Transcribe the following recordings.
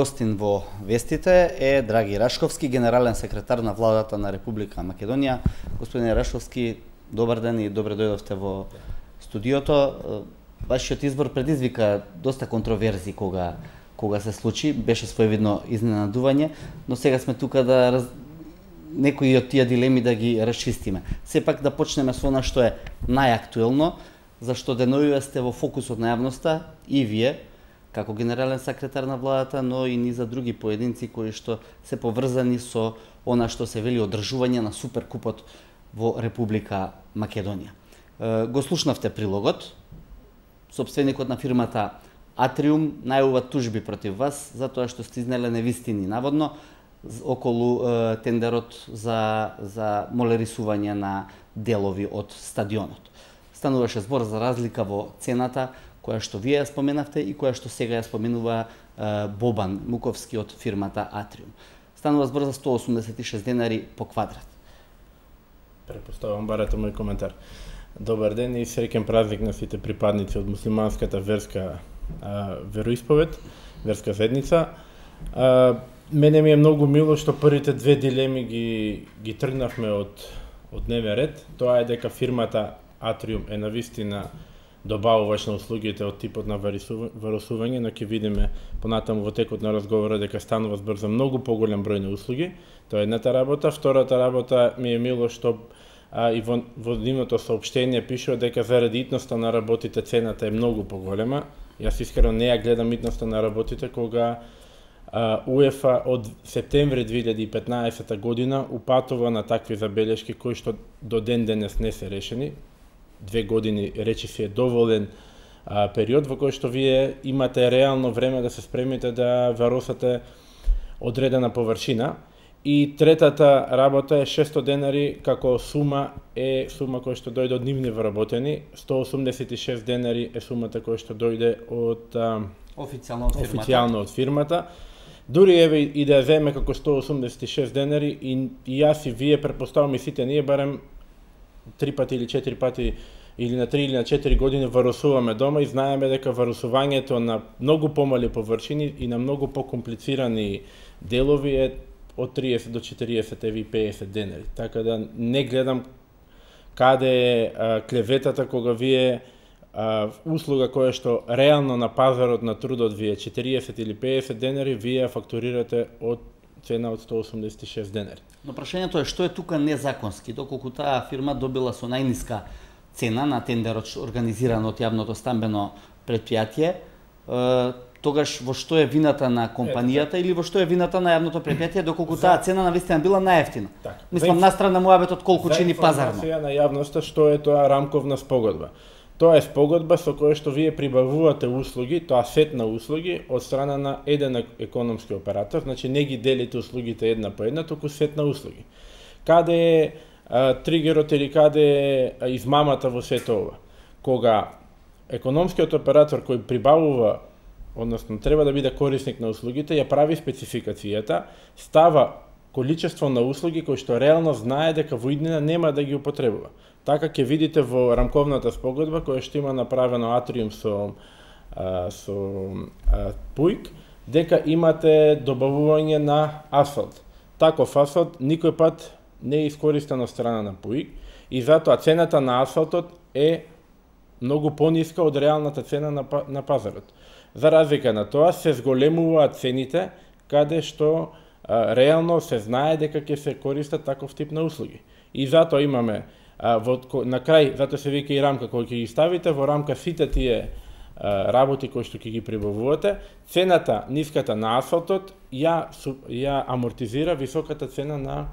Гостин во вестите е Драги Рашковски, генерален секретар на владата на Република Македонија. Господине Рашковски, добар ден и добре дојдовте во студиото. Вашиот избор предизвика доста контроверзи кога се случи, беше своевидно изненадување, но сега сме тука да некои од тие дилеми да ги расчистиме. Сепак да почнеме со она што е најактуелно, зашто деновиве сте во фокусот на јавноста и вие, како генерален секретар на владата, но и низа други поединци кои што се поврзани со она што се вели одржување на суперкупот во Република Македонија. Го слушнавте прилогот. Сопственикот на фирмата Атриум најавува тужби против вас затоа што сте изнеле невистини наводно околу тендерот за молерисување на делови од стадионот. Стануваше збор за разлика во цената која што вие ја споменавте и која што сега ја споменува Бобан Муковски од фирмата Атриум. Станува збор за 186 денари по квадрат. Препоставам барате мој коментар. Добар ден и среќен празник на сите припадници од муслиманската верска вероисповед, верска заедница. Мене ми е многу мило што првите две дилеми ги тргнавме од дневен ред. Тоа е дека фирмата Атриум е навистина добавуваш на услугите од типот на варусување, но ќе видиме понатаму во текот на разговора дека станува збор за многу поголем број на услуги. Тоа е едната работа. Втората работа ми е мило што и во нивното соопштение пишува дека заради итноста на работите цената е многу поголема. Јас искрено не ја гледам итноста на работите кога УЕФА од септември 2015 година упатува на такви забелешки кои што до ден денес не се решени. 2 години речи си е доволен период во кој што вие имате реално време да се спремите да варосате одредена површина. И третата работа е 600 денари како сума која што дојде од нивни вработени, 186 денари е сумата која што дојде од официјално од фирмата. Дури еве и да ја земе како 186 денари и јас и вие претпоставувам и сите ние барем 3 пати или 4 пати или на 3 или на 4 години варусуваме дома и знаеме дека варусувањето на многу помали површини и на многу покомплицирани делови е од 30 до 40 еви 50 денари. Така да не гледам каде е клеветата кога вие услуга која што реално на пазарот на трудот вие 40 или 50 денари, вие фактурирате од цена од 186 денари. Но прашањето е што е тука незаконски, доколку таа фирма добила со најниска цена на тендерот организиран од јавното стамбено претпријатие, тогаш во што е вината на компанијата или во што е вината на јавното претпријатие, доколку таа цена навистина била најевтина? Мислам настрана муабетот колку чини пазарно. За информација на јавноста што е тоа рамковна спогодба. Тоа е спогодба со која што вие прибавувате услуги, тоа сет на услуги од страна на еден економски оператор, значи не ги делите услугите една по една, туку сет на услуги. Каде е тригерот или каде е измамата во сето ова? Кога економскиот оператор кој прибавува, односно треба да биде корисник на услугите, ја прави спецификацијата, става количество на услуги кои што реално знае дека во иднина нема да ги употребува. Така ќе видите во рамковната спогодба која што има направено Атриум со Пуик, дека имате добавување на асфалт. Таков асфалт никој пат не е искористен од страна на Пуик и затоа цената на асфалтот е многу пониска од реалната цена на пазарот. За разлика на тоа се зголемуваат цените каде што реално се знае дека ќе се користат таков тип на услуги. И затоа имаме на крај, затоа се вика и рамка кој ќе ги ставите, во рамка сите тие работи кои што ќе ги прибавувате, цената ниската на асфалтот ја амортизира високата цена на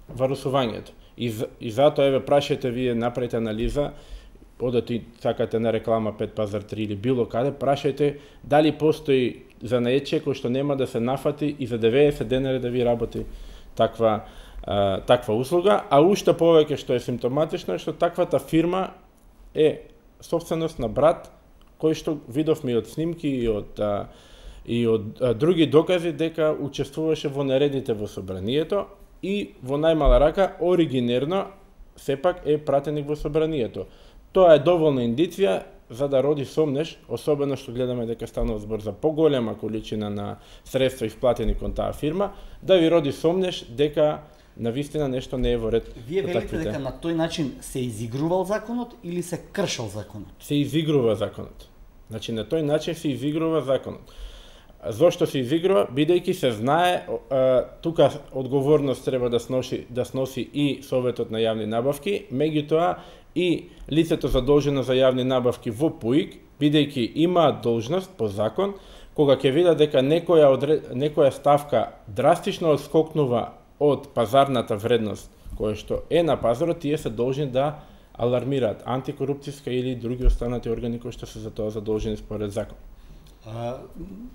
варусувањето. И затоа еве прашајте вие, направите анализа, одете и сакате на реклама 5 пазар 3 или било каде, прашајте дали постои занаечие кој што нема да се нафати и за 90 денари да ви работи таква услуга, а уште повеќе што е симптоматично е што таквата фирма е собственост на брат кој што видовме и од снимки и од други докази дека учествуваше во нередите во собранието и во најмала рака оригинерно сепак е пратеник во собранието. Тоа е доволна индиција за да роди сомнеш, особено што гледаме дека станува збор за поголема количина на средства исплатени кон таа фирма, да ви роди сомнеш дека навистина нешто не е во ред. Вие велите дека на тој начин се изигрувал законот или се кршал законот? Се изигрува законот. Значи на тој начин се изигрува законот. Зошто се изигрува? Бидејќи се знае, тука одговорност треба да сноси и Советот на јавни набавки, меѓутоа и лицето задолжено за јавни набавки во ПУИК, бидејќи има должност по закон, кога ќе видат дека некоја ставка драстично отскокнува од пазарната вредност која што е на пазарот, тие се должни да алармираат антикорупцијска или други останати органи кои што се за тоа задолжени според закон.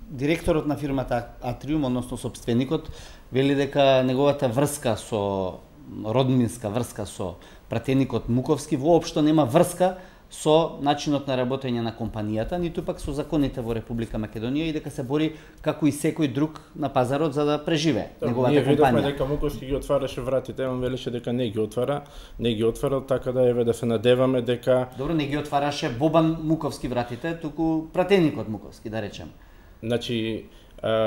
Директорот на фирмата Атриум, односно собственикот, вели дека неговата врска со роднинска врска со пратеникот Муковски воопшто нема врска со начинот на работење на компанијата, ниту пак со законите во Република Македонија и дека се бори како и секој друг на пазарот за да преживее неговата компанија. Ние видовме дека Муковски ги отвараше вратите, он велеше дека не ги отварал, така да еве да се надеваме дека... Добро, не ги отвараше Бобан Муковски вратите, туку пратеникот Муковски, да речем. Значи,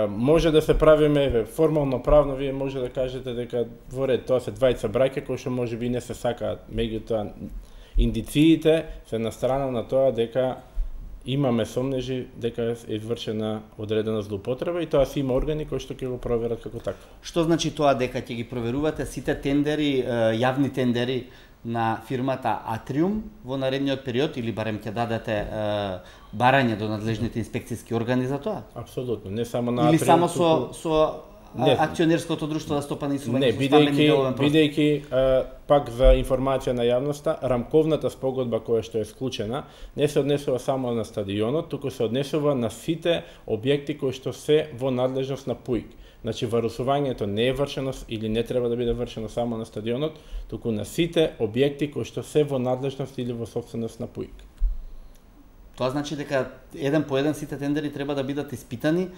може да се правиме, еве, формално правно, вие може да кажете дека во ред, тоа се двајца браќа кои што можеби не се сакаат, меѓутоа индициите се на страна на тоа дека имаме сомнежи дека е извршена одредена злоупотреба и тоа си има органи кои што ќе го проверат како така. Што значи тоа дека ќе ги проверувате сите тендери, јавни тендери на фирмата Атриум во наредниот период или барем ќе дадете барање до надлежните инспекцијски органи за тоа? Апсолутно, не само на Атриум. Или само со акционерското друштво за стопани и сување со стамбени деловен простор? Бидејќи пак за информација на јавноста, рамковната спогодба која што е склучена не се однесува само на стадионот, туку се однесува на сите објекти кои што се во надлежност на ПУИК. Значи, варусувањето не е вршено или не треба да биде вршено само на стадионот, туку на сите објекти кои што се во надлежност или во собственост на ПУИК. Тоа значи дека еден по еден сите тендери треба да бидат испитани.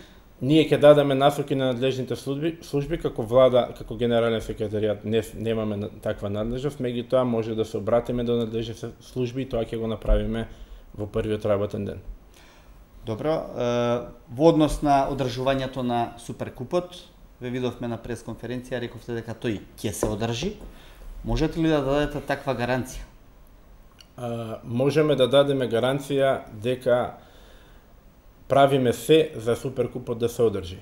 Ние ќе дадеме насоки на надлежните служби како влада, како генерален секретаријат немаме таква надлежност, меѓутоа може да се обратиме до надлежните служби и тоа ќе го направиме во првиот работен ден. Добро, во однос на одржувањето на Суперкупот, ве видовме на пресконференција, рековте дека тој ќе се одржи. Можете ли да дадете таква гаранција? Можеме да дадеме гаранција дека правиме се за Суперкупот да се одржи.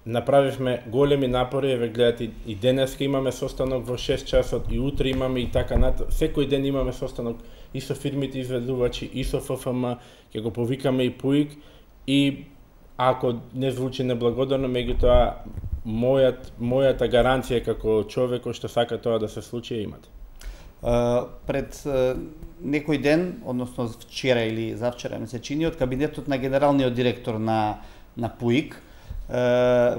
Направивме големи напори, еве гледате и денеска имаме состанок во 6 часот и утре имаме и така секој ден имаме состанок и со фирмите изведувачи и со ФФМ, ќе го повикаме и ПУИК и ако не звучи неблагодарно, меѓутоа мојата гаранција како човек кој што сака тоа да се случи имате. Пред некој ден, односно вчера или завчера ми се чини, од кабинетот на генералниот директор на ПУИК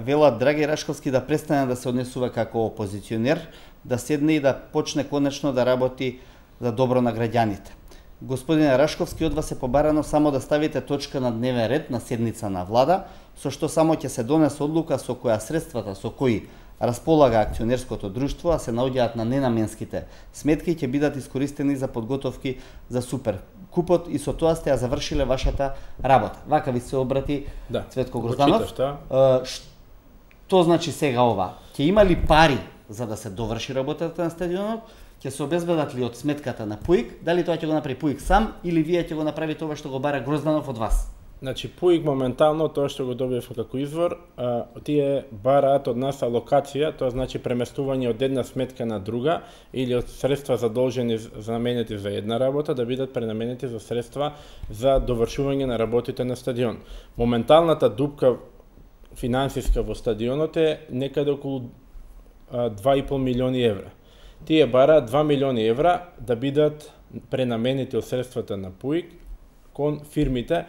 велат Драги Рашковски да престане да се однесува како опозиционер, да седне и да почне конечно да работи за добро на граѓаните. Господине Рашковски, од вас е побарано само да ставите точка на дневен ред на седница на влада, со што само ќе се донесе одлука со која средствата со кои располага акционерското друштво, а се наоѓаат на ненаменските сметки, ќе бидат искористени за подготовки за Суперкупот и со тоа сте ја завршиле вашата работа. Вака ви се обрати Цветко Грозданов. Што значи сега ова? Ќе има ли пари за да се доврши работата на стадионот? Ќе се обезбедат ли од сметката на ПУИК? Дали тоа ќе го направи ПУИК сам или вие ќе го направите ова што го бара Грозданов од вас? Значи, ПУИК моментално, тоа што го добивме како извор, тие бараат од нас алокација, тоа значи преместување од една сметка на друга или од средства задолжени за наменети за една работа да бидат пренаменети за средства за довршување на работите на стадион. Моменталната дупка финансиска во стадионот е некаде околу 2,5 милиони евра. Тие бараат 2 милиони евра да бидат пренаменети од средствата на ПУИК кон фирмите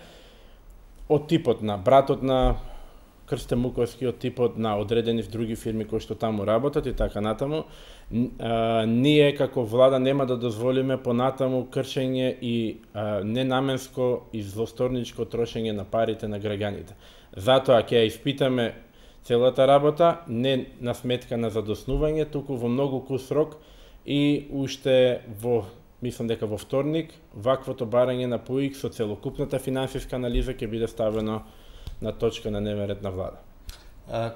од типот на братот на Крстен Муковски, од типот на одредени други фирми кои што таму работат и така натаму. Ние како влада нема да дозволиме понатаму кршење и ненаменско и злосторничко трошење на парите на граѓаните. Затоа ќе ја испитаме целата работа, не на сметка на задоснување, туку во многу кус рок и уште во мислам дека во вторник ваквото барање на ПУИК со целокупната финансиска анализа ќе биде ставено на точка на дневен ред на влада.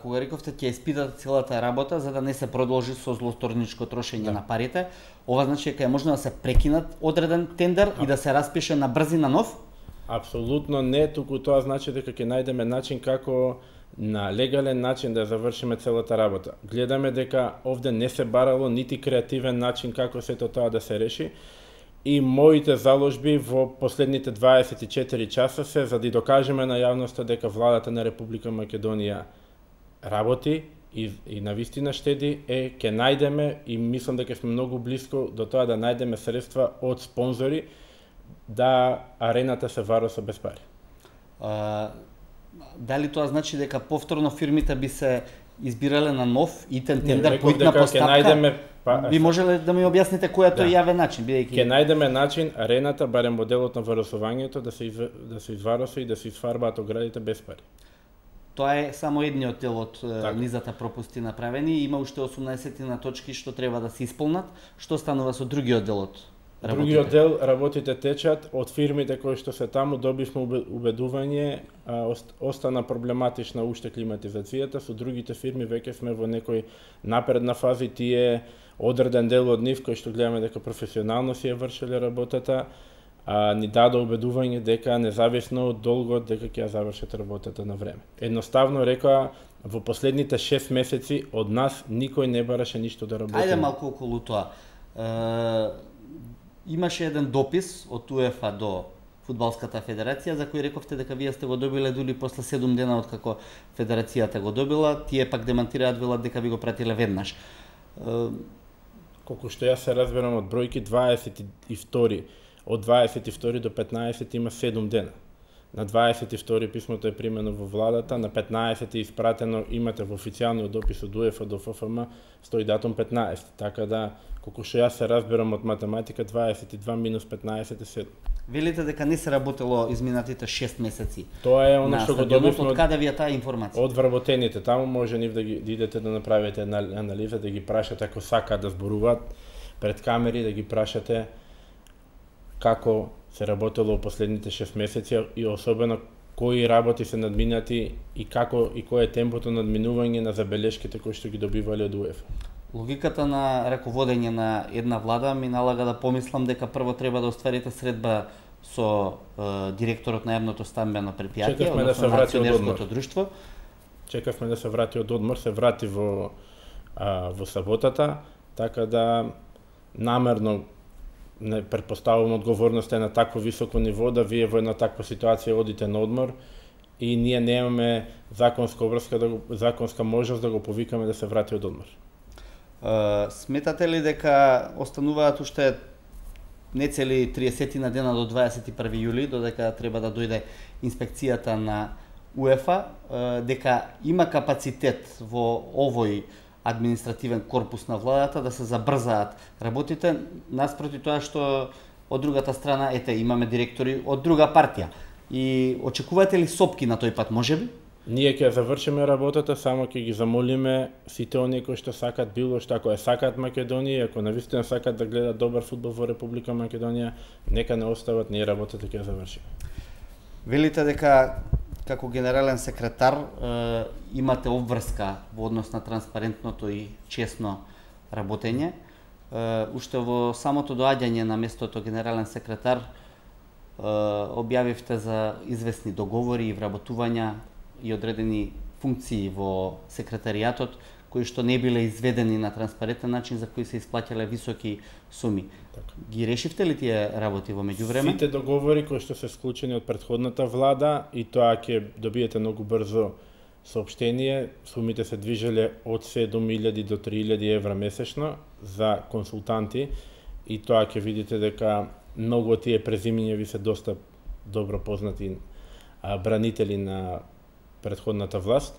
Кога рековте ќе испитате целата работа за да не се продолжи со злосторничко трошење на парите, ова значи дека е можно да се прекинат одреден тендер и да се распише на брзина нов? Апсолутно не, туку тоа значи дека ќе најдеме начин како на легален начин да завршиме целата работа. Гледаме дека овде не се барало нити креативен начин како сето тоа да се реши и моите заложби во последните 24 часа се за да докажеме на јавноста дека владата на Република Македонија работи и навистина штеди ќе најдеме и мислам дека сме многу блиско до тоа да најдеме средства од спонзори да арената се вароса без пари. Дали тоа значи дека повторно фирмите би се избирале на нов итен тендер по итна постапка? Би можеле да ми објасните кој е тој јавен начин, бидејќи ќе најдеме начин арената барем моделот на варосувањето да се извароса и да се изфарбаат оградите без пари. Тоа е само едниот дел од низата пропусти направени, има уште 18 на точки што треба да се исполнат. Што станува со другиот дел од работите? Другиот дел работите течат, од фирмите кои што се таму добивме убедување, остана проблематична уште климатизацијата, со другите фирми веќе сме во некој напредна фаза и тие одреден дел од нив кои што гледаме дека професионално си ја вршеле работата, ни даде убедување дека независно од долгот дека ќе ја завршат работата на време. Едноставно рекоа во последните 6 месеци од нас никој не бараше ништо да работи. Ајде малку околу тоа. Имаше еден допис од УЕФА до Фудбалската федерација за кој рековте дека вие сте го добиле дури после 7 дена од како федерацијата го добила, тие пак демантираат, велат дека ви го пратиле веднаш. Колку што јас се разберам од бројки, 22 од 22 до 15 има 7 дена. На 22 писмото е примено во владата, на 15 е испратено, имате во официјалниот допис од УЕФА до ФФМ, стои датум 15, така да колку што јас се разберам од математика, 22 минус 15 е 7. Велите дека не се работело изминатите 6 месеци. Тоа е оно што го добивме од каде ви е таа информација? Од вработените. Таму може нив да идете да направите анализа, да ги прашате ако сакаат да зборуваат пред камери, да ги прашате како се работело во последните 6 месеци и особено кои работи се надминати и како и кој е темпото на надминување на забелешките кои што ги добивале од УЕФА. Логиката на раководење на една влада ми налага да помислам дека прво треба да остварите средба со директорот на јавното стамбено предпријатие, односно на акционерското друштво. Чекавме да се врати од одмор, се врати во саботата, така да намерно не претпоставувам одговорноста е на такво високо ниво да вие во една таква ситуација одите на одмор и ние немаме законска можност да го повикаме да се врати од одмор. Сметате ли дека остануваат уште нецели 30 на дена до 21 јули, додека треба да дојде инспекцијата на УЕФА, дека има капацитет во овој административен корпус на владата да се забрзаат работите, наспроти тоа што од другата страна, имаме директори од друга партија. И очекувате ли сопки на тој пат, можеби? Ние ќе завршиме работата, само ќе ги замолиме сите оние кои што сакаат било што, ако сакаат Македонија, ако навистина сакаат да гледат добар фудбал во Република Македонија, нека не остават, ние работата ќе завршиме. Велите дека како генерален секретар имате обврска во однос на транспарентното и честно работење. Уште во самото доаѓање на местото генерален секретар објавивте за известни договори и вработувања и одредени функции во секретаријатот кои што не биле изведени на транспарентен начин, за кои се исплаќале високи суми. Така. Ги решивте ли тие работи во меѓувреме? Сите договори кои што се склучени од претходната влада и тоа ќе добиете многу брзо соопштение, сумите се движеле од 7.000 до 3.000 евра месечно за консултанти и тоа ќе видите дека многу од тие презимиња ви се доста добро познати бранители на претходната власт.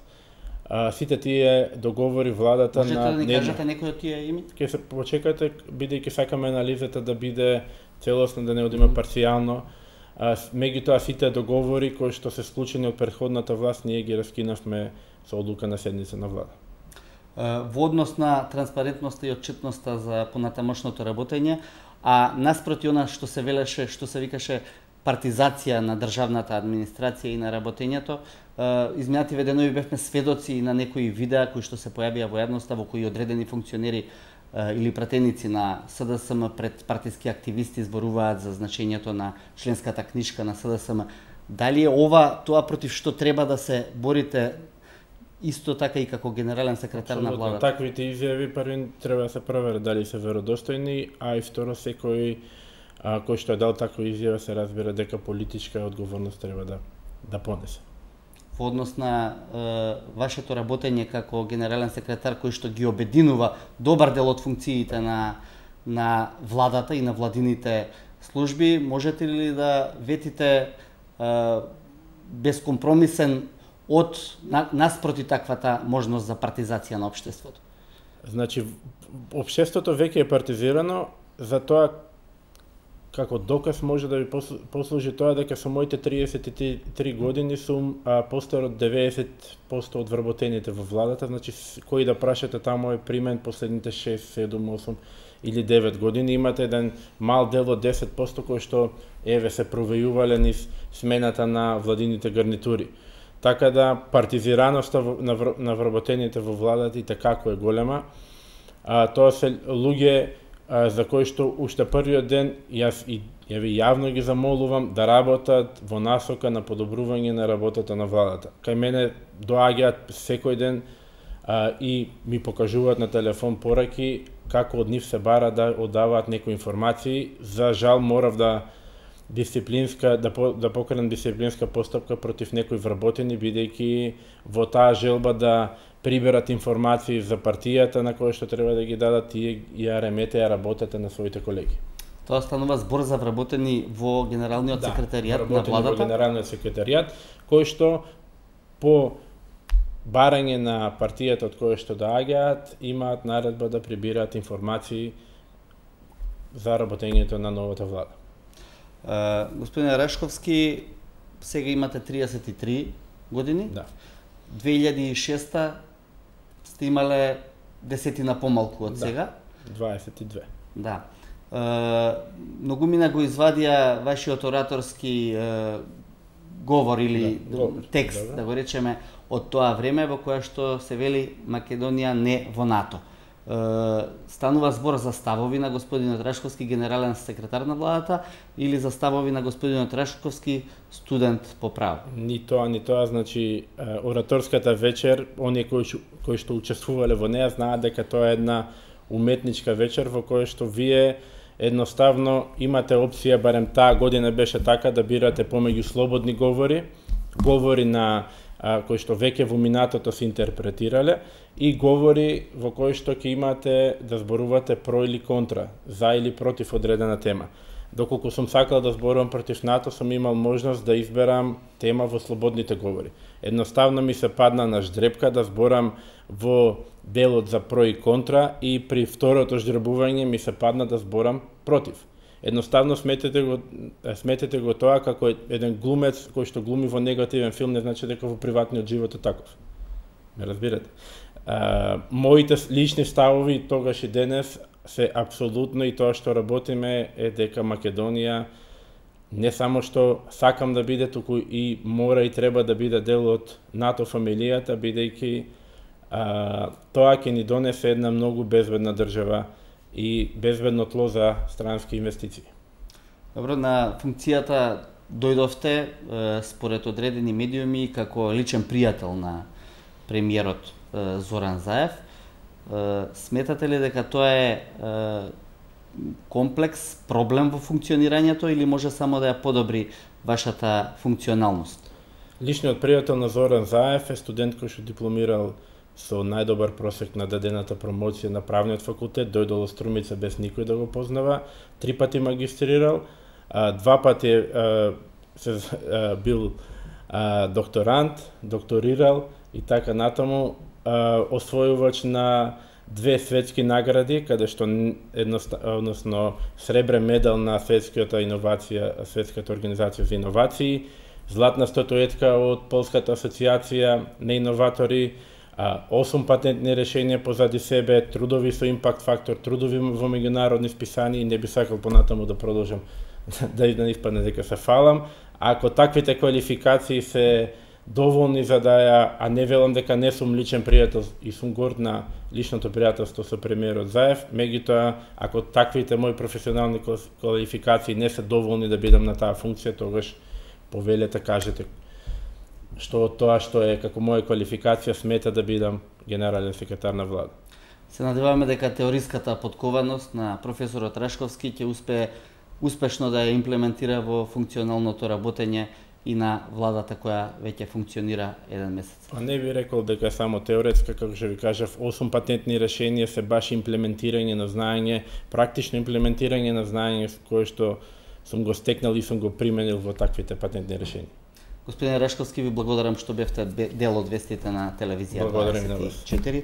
Сите тие договори владата можете да ни кажете некои од тие име? Ќе се почекате, бидејќи сакаме анализата да биде целосно, да не одиме парцијално. Меѓутоа сите договори кои што се склучени од претходната власт, ние ги раскинавме со одлука на седница на влада. Во однос на транспарентноста и отчетноста за понатамошното работење, а наспроти она што се велеше, што се викаше партизација на државната администрација и на работењето, изминативе денови бевме сведоци на некои видеа кои што се појавија во јавноста, во кои одредени функционери или пратеници на СДСМ пред партиски активисти зборуваат за значењето на членската книжка на СДСМ. Дали е ова тоа против што треба да се борите исто така и како генерален секретар на владата? Таквите изјави први треба да се проверат дали се веродостојни, а и второ секој кој што е дал таква изјава се разбира дека политичка одговорност треба да понесе. Во однос на вашето работење како генерален секретар кој што ги обединува добар дел од функциите на владата и на владините служби, можете ли да ветите безкомпромисен наспроти таквата можност за партизација на општеството? Значи, општеството веќе е партизирано, затоа како доказ може да ви послужи тоа дека со моите 33 години сум постар од 90% од вработените во владата, значи кој да прашате таму е примен последните 6, 7, 8 или 9 години, имате еден мал дел од 10% кој што еве се провејувале низ смената на владините гарнитури. Така да партизираноста на вработените во владата и како е голема. Тоа се луѓе за кои што уште првиот ден јас и јавно ги замолувам да работат во насока на подобрување на работата на владата. Кај мене доаѓаат секој ден и ми покажуваат на телефон пораки како од нив се бара да оддаваат некои информации. За жал морав да покренам дисциплинска постапка против некои вработени, бидејќи во таа желба да приберат информации за партијата на која што треба да ги дадат, тие ја реметеа работата на своите колеги. Тоа станува збор за вработени во генералниот секретаријат на владата? Во генералниот секретаријат, кој што по барање на партијата од која што доаѓаат, имаат наредба да прибираат информации за работењето на новата влада. Господине Рашковски, сега имате 33 години. Да. 2006 сте имале десетина помалку од сега. 22. Да. Многумина го извадија вашиот ораторски говор или текст, да го речеме, од тоа време во кое што се вели Македонија не во НАТО. Станува збор за ставови на господинот Рашковски, генерален секретар на владата, или за ставови на господинот Рашковски, студент по право? Ни тоа, значи ораторската вечер, оние кои што учествувале во неа знаат дека тоа е една уметничка вечер во која што вие едноставно имате опција, барем таа година беше така, да бирате помеѓу слободни говори на кои што веќе во минатото се интерпретирале, и говори во кои што ќе имате да зборувате про или контра, за или против одредена тема. Доколку сум сакал да зборувам против НАТО, сум имал можност да изберам тема во слободните говори. Едноставно ми се падна на ждрепка да зборам во делот за про и контра, и при второто ждребување ми се падна да зборам против. Едноставно сметете го тоа како еден глумец кој што глуми во негативен филм, не значи дека во приватниот живот е таков. Ме разбирате? Моите лични ставови тогаш и денес се апсолутно, и тоа што работиме е дека Македонија не само што сакам да биде, туку и мора и треба да биде дел од НАТО фамилијата, бидејќи тоа ќе ни донесе една многу безбедна држава и безбедно тло за странски инвестиции. Добро, на функцијата дојдовте според одредени медиуми како личен пријател на премиерот Зоран Заев. Сметате ли дека тоа е комплекс, проблем во функционирањето, или може само да ја подобри вашата функционалност? Личниот пријател на Зоран Заев е студент кој што дипломирал со најдобар просек на дадената промоција на правниот факултет, дојдол од Струмица без никој да го познава, 3 пати магистрирал, 2 пати бил докторант, докторирал и така натаму, освојувач на 2 светски награди, каде што односно сребрен медал на светската организација за иновации, златна статуетка од Полската асоциација на иноватори, 8 патентни решенија позади себе, трудови со импакт фактор, трудови во меѓународни списани и не би сакал понатаму да продолжам да испадне дека се фалам. Ако таквите квалификации се доволни за да ја, а не велам дека не сум личен пријател и сум горд на личното пријателство со премиерот Заев, меѓутоа ако таквите мои професионални квалификации не се доволни да бидам на таа функција, тогаш повелете, кажете што од тоа што е како моја квалификација смета да бидам генерален секретар на влада. Се надеваме дека теориската подкованост на професорот Рашковски ќе успее успешно да ја имплементира во функционалното работење и на владата која веќе функционира еден месец. Па не би рекол дека е само теоретска, како што ви кажав, 8 патентни решенија се баш имплементирање на знаење, практично имплементирање на знаење кое што сум го стекнал и сум го применил во таквите патентни решенија. Господин Рашковски, ви благодарам што бевте дел од вестите на телевизија 24.